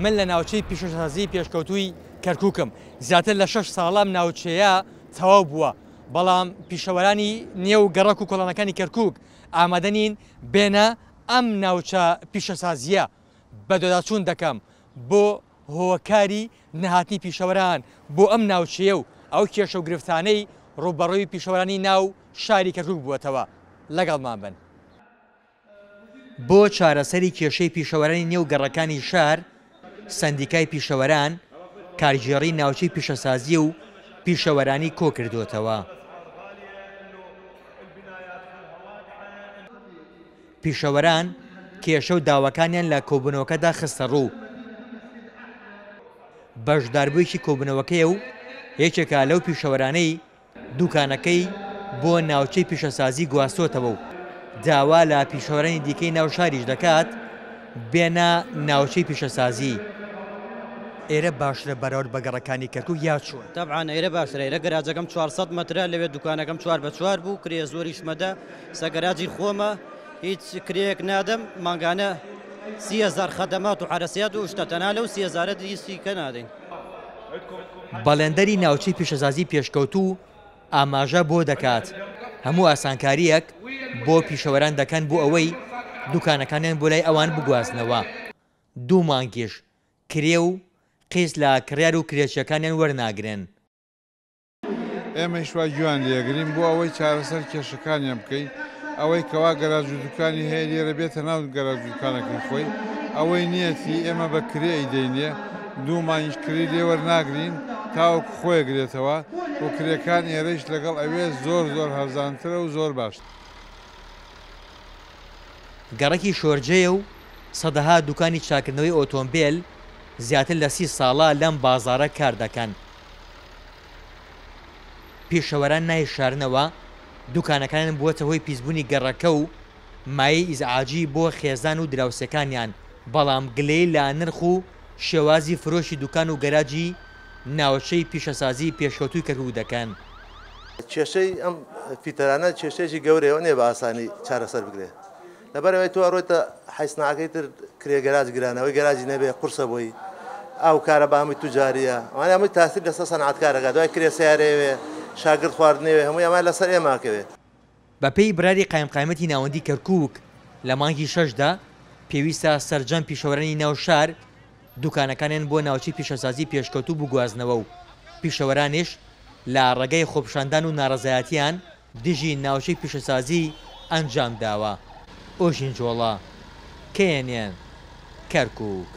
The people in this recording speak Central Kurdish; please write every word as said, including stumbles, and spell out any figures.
من لە ناوچەی پیشەسازی پێشکەوتووی کەرکووکم. زیاتر لە شەش ساڵام ناوچەیە تەواو بووە، بەڵام پیشەوەرانی نێو گەڕەک و کۆڵانەکانی کەرکووک ئامادە نین بێنە ئەم ناوچە پیشەسازیە. بەدواداچوون دەکەم بۆ هۆکاری نەهاتنی پیشەوەران بۆ ئەم ناوچەیە و ئەو کێشە و گرفتانەی ڕووبەڕووی پیشەوەرانی ناو شاری کەرکووک بووەتەوە. لەگەڵمان بن. بۆ چارەسەری کێشەی پیشەوەرانی نێو گەڕەکانی شار، سەندیکای پیشەوەران کارگێڕی ناوچەی پیشەسازی و پیشەوەرانی کۆ کردوتەوە. پیشەوەران کێشە و داواکانیان لە کۆبوونەوەکەدا خستە ڕوو. بەشداربوویەکی کۆبوونەوەکەیە و یەکێکە لەو پیشەوەرانەی دوکانەکەی بۆ ناوچەی پیشەسازی گواستۆتەوە و داوا لە پیشەوەرانی دیکەی ناو شاریش دەکات بێنە ناوچەی پیشەسازی. ئێرە باشترە بەراورد بە گەڕەکانی کەرکووک یا چۆن؟ طبعا ئێرە باشترە. ئێرە گەراجەکەم چوار سەد مەترە، لەوێ دوکانەکەم چوار بە چوار بوو، کرێ زۆریشمەدا. سە گەراجی خۆمە، هیچ کرێیەک نادەم، مانگانە سی هەزار خەدەمات و حەرەسیات و شتە، تەنها لەو سی هەزارە هیچی کە نادەین. بەڵێندەری ناوچەی پیشەسازی پێشکەوتوو ئاماژە بۆ دەکات هەموو ئاسانکاریەک بۆ پیشەوەران دەکەن بۆ ئەوەی دوکانەکانیان بۆ لای ئەوان بگوازنەوە. دوو مانگیش کرێ و قیس لە کڕیار و کرێچیەکانیان وەرناگرن. ئێمەش وا گوێیان لێگرین بۆ ئەوەی چارەسەر کێشەکانیان بکەین. ئەوەی کەوا گەراج و دوکانی هەیە لێرە بێتە ناو گەراج و دوکانەکەی خۆی، ئەوەی نیەتی ئێمە بە کرێ ئەیدەینێ، دوو مانگیش کرێ لێ وەرناگرین تاوەکو خۆی گرێتەوە و کرێکان ئێرەیش لەگەڵ ئەوێ زۆر زۆر هەرزانترە و زۆر باشتر. گەڕەکی شۆرجەیە و سەدەها دوکانی چاکردنەوەی ئۆتۆمبیل زیاتر لە سی ساڵە لەم بازارە کار دەکەن. پیشەوەران نایشارنەوە دوکانەکانیان بووەتە هۆی پیسبوونی گەڕەکە و مایەی ئیزعاجی بۆ خێزان و دراوسێکانیان، بەڵام گلەی لە نرخ و شێوازی فرۆشی دوکان و گەراجی ناوچەی پیشەسازی پێشکەوتووی کەرکووک دەکەن. کێشەی ئەم فیتەرانە کێشەیەکی گەورەیە، نییە بە ئاسانی چارەسەر بکرێت. لەبەرەوەی تۆ ئەڕۆیتە حەیسناکەی تر کرێ گەراج گرانەوەی گەراجی نەبێ قورسە بۆی، ئەو کارەبا هەمووی توجاریە، ئەوانە هەمووی تاسیر لەسەر سەنعەتکارەکە، دوای کرێ سیارەیەوێ، شاگرد خواردنەوێ، هەمووی ئەمە لەسەر ئێماکەوێت. بەپێی بڕیاری قایمقامیەتی ناوەندی کەرکووک لە مانگی شەشدا پێویستە سەرجەم پیشەوەرانی ناو شار دوکانەکانیان بۆ ناوچەی پیشەسازی پێشکەوتوو بگوازنەوە و پیشەوەرانیش لە ڕێگەی خۆپیشاندان و ناڕەزایەتیان دژی ناوچەی پیشەسازی ئەنجام داوە. ئۆژین جۆڵا، K N N، کەرکووک.